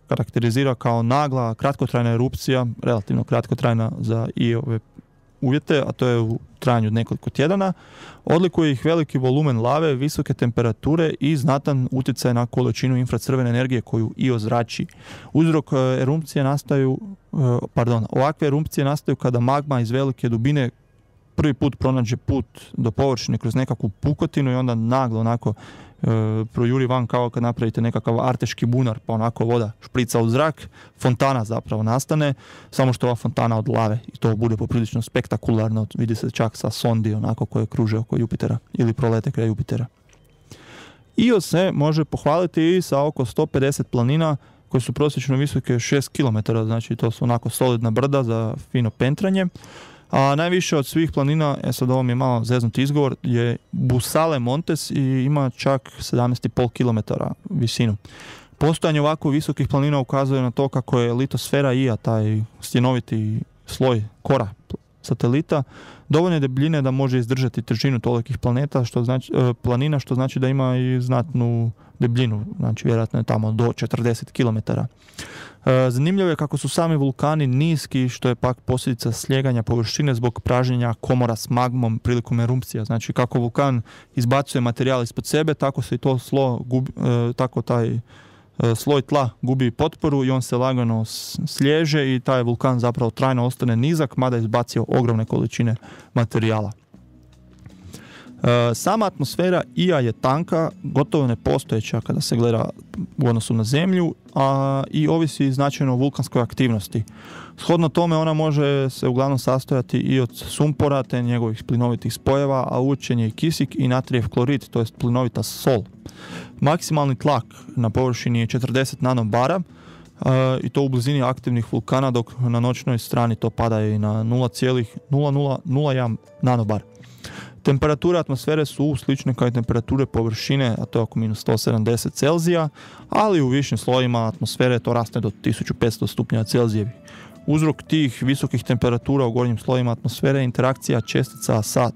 [SPEAKER 2] karakterizira kao nagla, kratkotrajna erupcija, relativno kratkotrajna za i ove uvjete, a to je u trajanju od nekoliko tjedana. Odlikuje ih veliki volumen lave, visoke temperature i znatan utjecaj na količinu infracrvene energije koju i ozrači. Uzrok erupcije ovakve erupcije nastaju kada magma iz velike dubine prvi put pronađe put do površine kroz nekakvu pukotinu i onda naglo onako projuri van kao kad napravite nekakav arteški bunar, pa onako voda šprica u zrak, fontana zapravo nastane, samo što ova fontana od lave i to bude poprilično spektakularno, vidi se čak sa sondi onako koje kruže oko Jupitera ili prolete kraj Jupitera. Io se može pohvaliti i sa oko 150 planina koje su prosječno visoke 6 km, znači to su onako solidna brda za fino pentranje. A najviše od svih planina, sad ovo mi je malo zeznut izgovor, je Busale Montes i ima čak 17,5 km visinu. Postojanje ovako visokih planina ukazuje na to kako je litosfera Ija, taj stjenoviti sloj kora satelita, dovoljne debljine da može izdržati težinu tolikih planina, što znači da ima i znatnu debljinu, znači vjerojatno je tamo do 40 km. Zanimljivo je kako su sami vulkani niski, što je pak posljedica slijeganja površine zbog pražnjenja komora s magmom prilikom erupcija. Znači kako vulkan izbacuje materijal ispod sebe, tako se i to taj sloj tla gubi potporu i on se lagano sliježe i taj vulkan zapravo trajno ostane nizak, mada je izbacio ogromne količine materijala. Sama atmosfera Ija je tanka, gotovo nepostojeća kada se gleda u odnosu na Zemlju, i ovisi značajno o vulkanskoj aktivnosti. Shodno tome ona može se uglavnom sastojati i od sumpora te njegovih plinovitih spojeva, a učen je i kisik i natrijev klorid, to jest plinovita sol. Maksimalni tlak na površini je 40 nanobara, i to u blizini aktivnih vulkana, dok na noćnoj strani to pada i na 0,0001 nanobar. Temperature atmosfere su slične kao i temperature površine, a to je oko minus 170 Celzija, ali u višim slojima atmosfere to raste do 1500 stupnjeva Celzijevi. Uzrok tih visokih temperatura u gornjim slojima atmosfere je interakcija čestica sa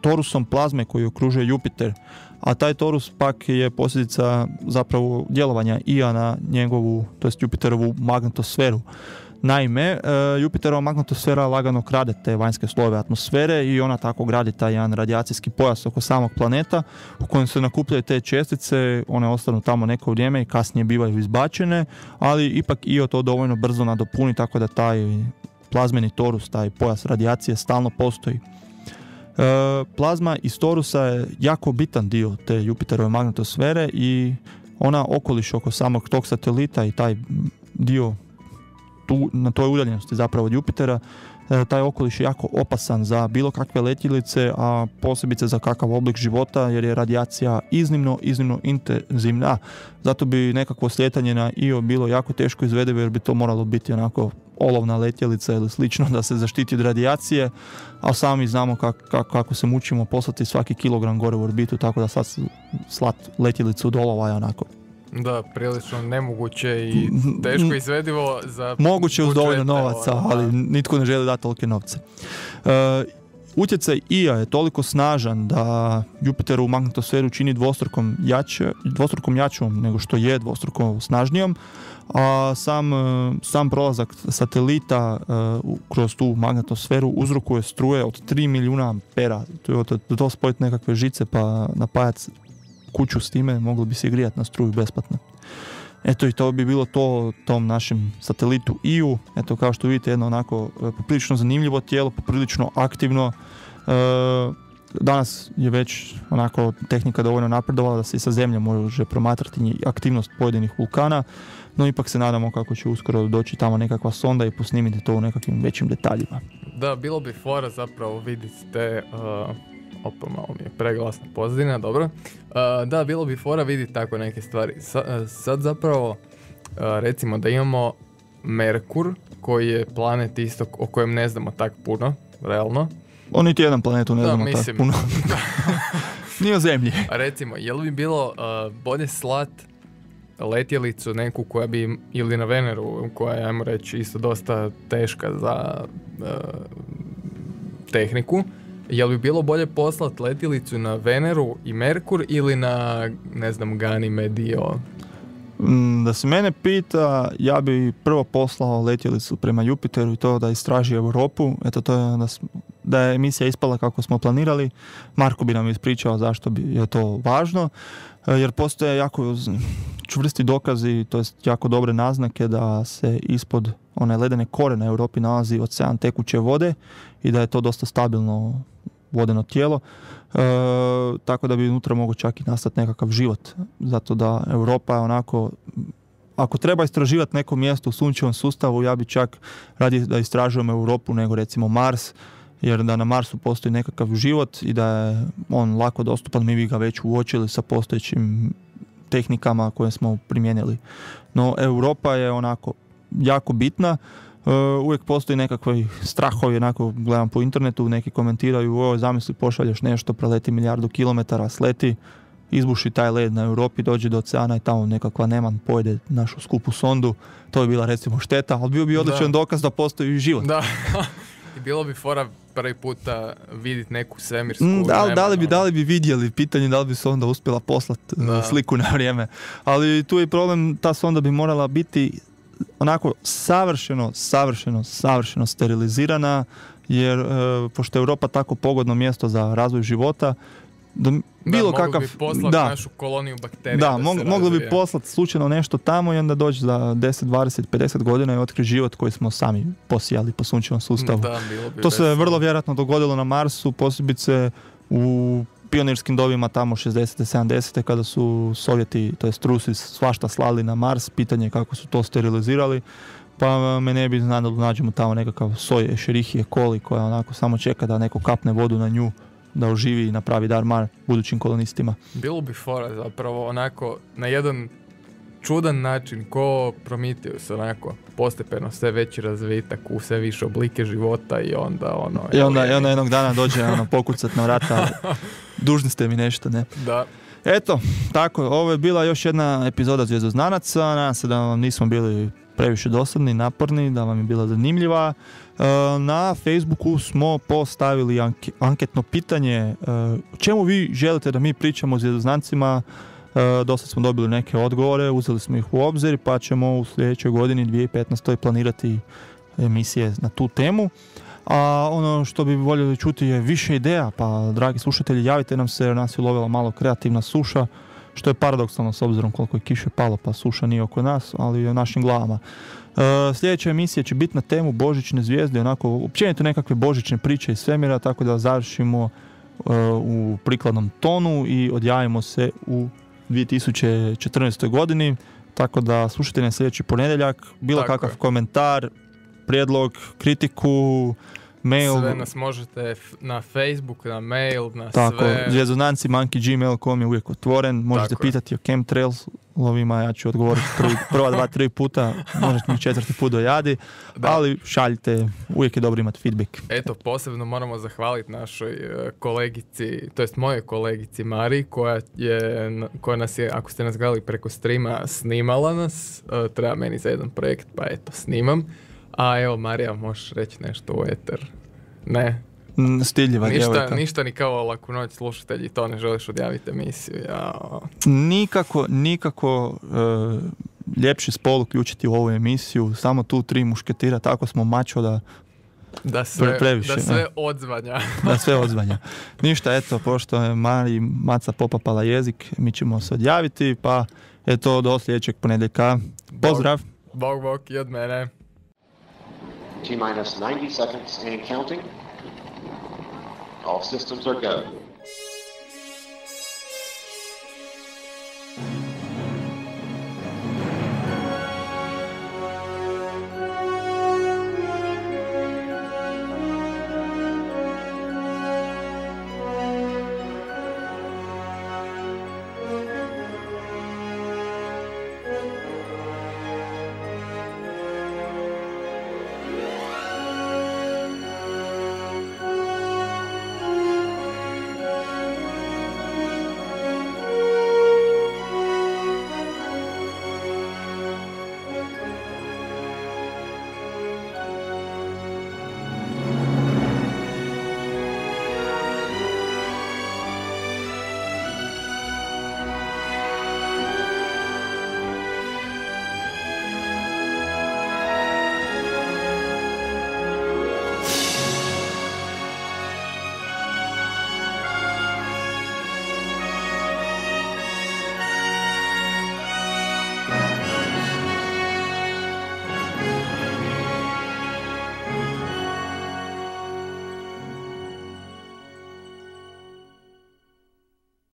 [SPEAKER 2] torusom plazme koji okružuje Jupiter, a taj torus pak je posljedica zapravo djelovanja Ija na njegovu, to jest Jupiterovu magnetosferu. Naime, Jupiterova magnetosfera lagano krade te vanjske slojeve atmosfere i ona tako gradi taj jedan radijacijski pojas oko samog planeta u kojem se nakupljaju te čestice, one ostanu tamo neko vrijeme i kasnije bivaju izbačene, ali ipak Io to dovoljno brzo nadopuni tako da taj plazmeni torus, taj pojas radijacije stalno postoji. Plazma iz torusa je jako bitan dio te Jupiterove magnetosfere i ona okoliš oko samog tog satelita i taj dio na toj udaljenosti zapravo od Jupitera, taj okoliš je jako opasan za bilo kakve letjelice, a posebice za kakav oblik života, jer je radijacija iznimno intenzivna. Zato bi nekakvo slijetanje na Io bilo jako teško izvedivo, jer bi to moralo biti onako olovna letjelica ili slično da se zaštiti od radijacije, a sami znamo kako se mučimo poslati svaki kilogram gore u orbitu, tako da sad slat letjelicu do olova je onako.
[SPEAKER 3] Da, prilično nemoguće i teško izvedivo za...
[SPEAKER 2] Moguće uz dovoljno novaca, ali nitko ne želi dati tolike novce. Utjecaj Ija je toliko snažan da Jupiterovu magnetosferu čini dvostrukom jačom nego što je dvostruko snažnijom, a sam prolazak satelita kroz tu magnetosferu uzrokuje struje od 3 milijuna ampera. To spojiti nekakve žice pa napajati kuću s time, moglo bi se grijati na struju besplatno. Eto, i to bi bilo to tom našem satelitu Iju. Eto, kao što vidite, jedno onako poprilično zanimljivo tijelo, poprilično aktivno. danas je već onako tehnika dovoljno napredovala da se i sa zemlje može promatrati aktivnost pojedinih vulkana, no ipak se nadamo kako će uskoro doći tamo nekakva sonda i posnimiti to u nekakvim većim detaljima.
[SPEAKER 3] Da, bilo bi fora zapravo vidjeti te... Opa, malo mi je preglasna pozadina, dobro. Da, bilo bi fora vidjeti tako neke stvari. Sad zapravo, recimo da imamo Merkur, koji je planet isto o kojem ne znamo tak puno, realno.
[SPEAKER 2] On niti jedan planetu ne znamo tak puno. Nije o zemlji.
[SPEAKER 3] Recimo, je li bi bilo bolje slat letjelicu neku koja bi, ili na Veneru, koja je, ajmo reći, isto dosta teška za tehniku, je li bi bilo bolje poslati letjelicu na Veneru i Merkur ili na, ne znam, Ganymede?
[SPEAKER 2] Da se mene pita, ja bi prvo poslao letjelicu prema Jupiteru i to da istraži Europu. Eto, to je da je emisija ispala kako smo planirali. Marko bi nam ispričao zašto je to važno, jer postoje jako čvrsti dokazi, to jest jako dobre naznake da se ispod one ledene kore na Europi nalazi ocean tekuće vode i da je to dosta stabilno vodeno tijelo, tako da bi unutra mogao čak i nastati nekakav život. Zato da Europa je onako, ako treba istraživati neko mjesto u sunčevom sustavu, ja bi čak radije da istražujem Europu nego recimo Mars, jer da na Marsu postoji nekakav život i da je on lako dostupan, mi bi ga već uočili sa postojećim tehnikama koje smo primijenili. No Europa je onako jako bitna. Uvijek postoji nekakvi strahovi, onako gledam po internetu, neki komentiraju, zamisli pošalješ nešto, preleti 1.000.000 kilometara, sleti, izbuši taj led na Europi, dođe do oceana i tamo nekakva neman pojede našu skupu sondu, to bi bila recimo šteta, ali bio bi odličan dokaz da postoji život.
[SPEAKER 3] Da, i bilo bi fora prvi puta vidjeti neku svemirsku...
[SPEAKER 2] Da li bi vidjeli, pitanje da li bi sonda uspjela poslati sliku na vrijeme, ali tu je problem, ta sonda bi morala biti onako savršeno sterilizirana, jer pošto je Europa tako pogodno mjesto za razvoj života,
[SPEAKER 3] mogli bi poslati našu koloniju bakterija.
[SPEAKER 2] Mogli bi poslati slučajno nešto tamo i onda doći za 10, 20, 50 godina i otkriti život koji smo sami posijali po sunčevom sustavu. To se vrlo vjerojatno dogodilo na Marsu, posebice u pionirskim dobima tamo 60. 70. kada su Sovjeti, to jest Rusi, svašta slali na Mars, pitanje kako su to sterilizirali, pa me ne bi znalo da nađemo tamo nekakav soj Escherichia coli koja onako samo čeka da neko kapne vodu na nju, da oživi i napravi dar mar budućim kolonistima.
[SPEAKER 3] Bilo bi fora zapravo onako na jedan čudan način ko Prometheus, onako postepeno sve veći razvitak u sve više oblike života i onda ono...
[SPEAKER 2] I onda jednog dana dođe pokucat na vrata, dužni ste mi nešto, ne?
[SPEAKER 3] Da.
[SPEAKER 2] Eto, tako, ovo je bila još jedna epizoda Zvjezdoznanaca, nadam se da vam nismo bili previše dosadni, naporni, da vam je bila zanimljiva. Na Facebooku smo postavili anketno pitanje o čemu vi želite da mi pričamo o zvjezdoznancima. Dosta smo dobili neke odgovore, uzeli smo ih u obzir, pa ćemo u sljedećoj godini 2015. planirati emisije na tu temu. A ono što bi voljeli čuti je više ideja, pa dragi slušatelji, javite nam se jer nas je ulovila malo kreativna suša, što je paradoksalno s obzirom koliko je kiše palo, pa suša nije oko nas, ali je u našim glavama. Sljedeća emisija će biti na temu božićne zvijezde, onako općenito nekakve božićne priče iz svemira, tako da završimo u prikladnom tonu i odjavimo se u 2014. godini, tako da slušajte na sljedeći ponedjeljak, bilo kakav komentar, prijedlog, kritiku, mail.
[SPEAKER 3] Sve nas možete na Facebook, na mail, na
[SPEAKER 2] tako,
[SPEAKER 3] sve.
[SPEAKER 2] zvjezdozanci@gmail.com je uvijek otvoren, možete pitati o chemtrails-lovima, ja ću odgovoriti prva 2-3 puta, možete mi 4. put dojadi, ali šaljite, uvijek je dobro imati feedback.
[SPEAKER 3] Eto, posebno moramo zahvaliti našoj kolegici, to jest mojoj kolegici Mari, koja nas je, ako ste nas gledali preko streama, snimala nas, treba meni za jedan projekt, pa eto, snimam. A evo, Marija, možeš reći nešto u eter? Ne?
[SPEAKER 2] Stiljiva djevojka.
[SPEAKER 3] Ništa ni kao laku noć slušatelji, to ne želiš odjaviti emisiju.
[SPEAKER 2] Nikako ljepši spol uključiti u ovu emisiju, samo tu 3 mušketira, tako smo mačo da sve
[SPEAKER 3] odzvanja.
[SPEAKER 2] Da sve odzvanja. Ništa, eto, pošto je Mari Maca popapala jezik, mi ćemo se odjaviti, pa eto, do sljedećeg ponedjeljka. Pozdrav!
[SPEAKER 3] Bog i od mene.
[SPEAKER 1] T-minus 90 seconds and counting. All systems are go.